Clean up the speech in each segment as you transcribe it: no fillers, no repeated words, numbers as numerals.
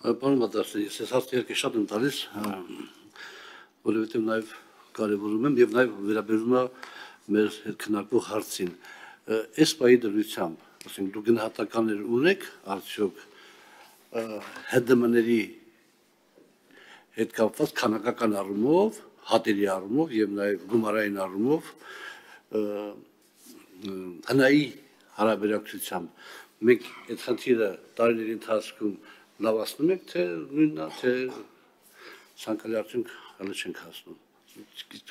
Պարոն Մատասյան, ես այս հարցը երկի շատ եմ տալիս, որովհետև նաև կարևորում եմ և նաև վերաբերում է մեր հետ քննարկվող հարցին։ Այս պահի դրությամբ, ասենք դուք գնահատականներ ունեք արդյոք ՀԴՄ-ների հետ կապված քանակական առումով, հատերի առումով և նաև գումարային առումով հնայի հարաբերակցությամբ մենք այդ խնդիրը տարիների ընթացքում լավացնում ենք, թե նույնն է, թե ցանկալի արդյունք հələ չենք հասնում։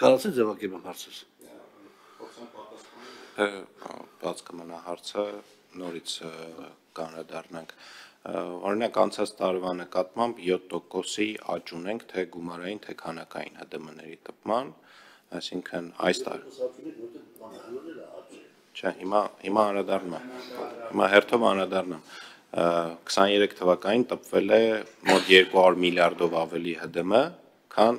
Կարողացեք ձևակերպել հարցս։ Բաց կմնա հարցը, նորից կանդրադառնանք։ Օրինակ անցած տարվա նկատմամբ 7%-ի աճ ունենք թե գումարային, թե քանակային ՀԴՄ-ների տպման, այսինքն այս տարի։ Չէ, հիմա անդրադառնում եմ։ Հիմա հերթով անդրադառնամ։ 23 թվականին տպվել է մոտ 200 միլիարդով ավելի ՀԴՄ, քան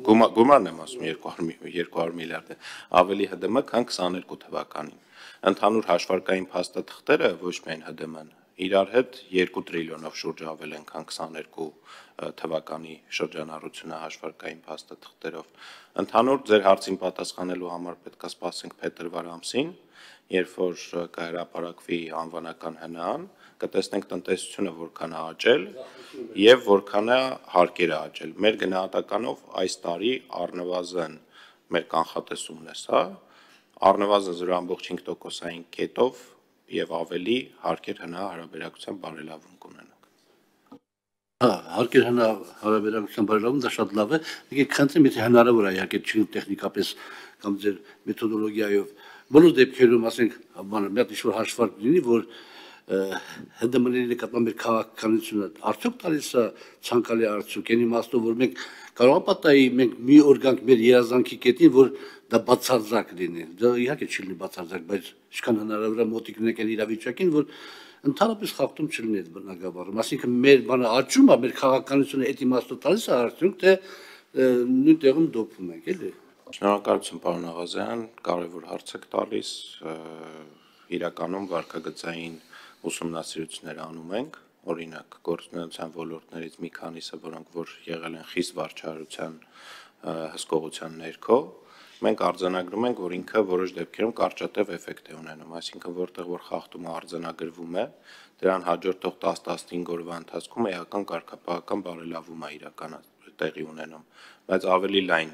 գումարն եմ ասում 200 միլիարդ է, ավելի ՀԴՄ, քան 22 թվականին։ Ընդհանուր հաշվարկային փաստաթղթերը, ոչ միայն ՀԴՄ-ն, իրար հետ 2 տրիլիոնով շուրջ ավել են, քան 22 թվականի շրջանառությունը հաշվարկային փաստաթղթերով։ Ընդհանուր ձեր հարցին պատասխանելու համար պետք է սպասենք փետրվար ամսին, երբ որ կհրապարակվի անվանական ՀՆԱ-ն, կտեսնենք տնտեսությունը որքան է աճել եւ որքան է հարկերը աճել։ Մեր գնահատականով այս տարի առնվազն մեր կանխատեսումն է սա, առնվազն 0.5%-ային կետով եւ ավելի հարկեր ՀՆԱ հարաբերակցությամբ բարելավում կունենանք։ Հարկեր ՀՆԱ հարաբերակցությամբ բարելավում դա շատ լավ է։ Եկեք խնդրեմ, եթե հնարավոր է իհարկե չի տեխնիկապես կամ ձեր մեթոդոլոգիայով բոլոր դեպքերում, ասենք, մի հատ ինչ-որ հաշվարկ լինի, որ ՀԴՄ-ների նկատմամբ մեր քաղաքականությունը արդյոք տալիս է ցանկալի արդյունք, այն իմաստով, որ մենք կարող ենք պատահի մենք մի օր գանք մեր երազանքի կետին, որ դա բացարձակ լինի։ Դա իհարկե չի լինի բացարձակ, բայց ինչքան հնարավոր է մոտիկ լինենք այն իրավիճակին, որ ընդհանրապես խախտում չլինի այդ բնագավառում։ Այսինքն մեր բանը աճում է, մեր քաղաքականությունը այդ իմաստով տալիս է արդյունք, թե նույն տեղում դոփում ենք, էլի։ Շնորհակալություն, պարոն Աղազյան, կարևոր հարց եք տալիս, իրականում վարքագծային ուսումնասիրություններ անում ենք, օրինակ գործունեության ոլորտներից մի քանիսը, որոնք որ եղել են խիստ վարչարության հսկողության ներքո, մենք արձանագրում ենք, որ ինքը որոշ դեպքերում կարճատև էֆեկտ է ունենում, այսինքն որտեղ որ խախտումը արձանագրվում է, դրան հաջորդող 10-15 օրվա ընթացքում էական կարգապահական բարելավում է տեղի ունենում, բայց ավելի լայն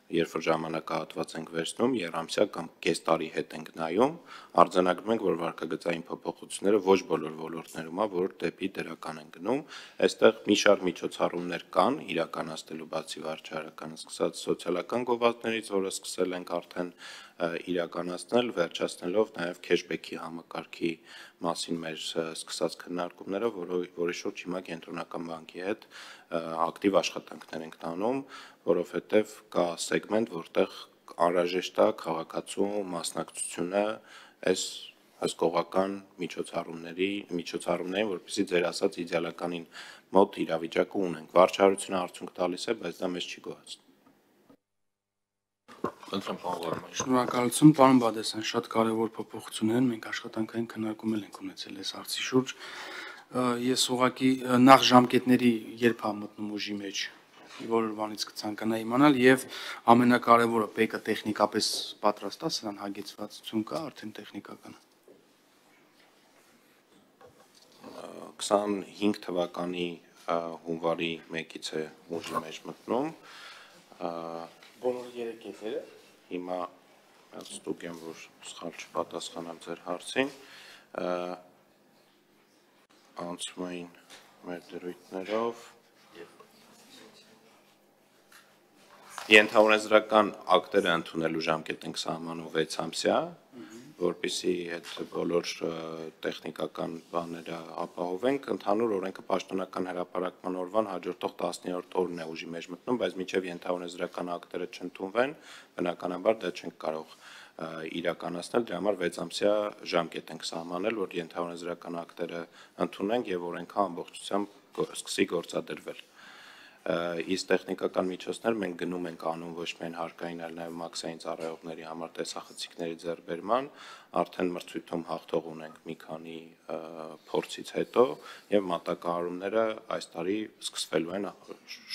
երբ որ ժամանակահատված ենք վերցնում, երամսյա կամ կես տարի հետ ենք նայում, արձանագրում ենք, որ վարքագծային փոփոխությունները ոչ բոլոր ոլորտներում է, որ դեպի դրական են գնում, այստեղ մի շարք միջոցառումներ կան իրականացնելու բացի վարչարականը, սկսած սոցիալական գովազդներից, որը սկսել ենք արդեն իրականացնել, վերջացնելով նաև քեշբեքի համակարգի մասին մեր սկսած քննարկումները, որի շուրջ հիմա կենտրոնական բանկի հետ ակտիվ աշխատանքներ ենք տանում, որովհետև կա սեգմենտ, որտեղ անհրաժեշտ է քաղաքացու մասնակցությունը այս հսկողական միջոցառումներին, որպեսզի ձեր ասած իդեալականին մոտ իրավիճակը ունենք։ Վարչարությունը արդյունք տալիս է, բայց դա մեզ չի գոհացնում։ Շնորհակալություն, պարոն Բադասյան, շատ կարևոր փոփոխություններ են, մենք աշխատանքային քննարկում ենք ունեցել այս հարցի շուրջ։ Ես ուղղակի նախ ժամկետների երբ է մտնում ուժի մեջ, որոնից կցանկանայի իմանալ, եւ ամենակարևորը ՊԵԿ-ը տեխնիկապես պատրաստ է, սրան հագեցվածություն կա արդեն տեխնիկական։ 25 թվականի հունվարի 1-ից է ուժի մեջ մտնում։ Բոլոր 3 կետերը հիմա ստուգ եմ, որ սխալ չպատասխանեմ ձեր հարցին, անցում էին մեր դրույթներով, ենթաունեզրական ակտերը ընդունելու ժամկետ ենք սահմանում 6 ամսյա, որպեսզի այդ բոլոր տեխնիկական բաները ապահովենք, ընդհանուր օրենքը պաշտոնական հրապարակման օրվան հաջորդող 10-րդ օրն է ուժի մեջ մտնում, բայց մինչև ենթաունեզրական ակտերը չընդունվեն, բնականաբար դա չենք կարող իրականացնել, դրա համար 6 ամսյա ժամկետ ենք սահմանել, որ ենթաունեզրական ակտերը ընդունենք եւ օրենքը ամբողջությամբ սկսի գործադրվել։ Իսկ տեխնիկական միջոցներ մենք գնում ենք անում ոչ միայն հարկային, այլ նաև մաքսային ծառայողների համար տեսախցիկների ձեռբերման, արդեն մրցույթում հաղթող ունենք մի քանի փորձից հետո եւ մատակարարումները այս տարի սկսվելու են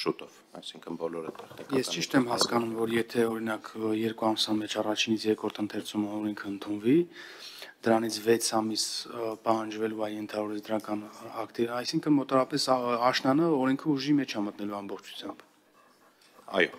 շուտով, այսինքն բոլորը տեխնիկական։ Ես ճիշտ եմ հասկանում, որ եթե օրինակ 2 ամսվա մեջ առաջինից երկրորդ ընթերցումը օրենքը ընդունվի, դրանից 6 ամիս պահանջվելու է ենթավորել դրական ակտի, այսինքն մոտավորապես աշնանը օրենքը ուժի մեջ է մտնելու ամբողջությամբ։ Այո,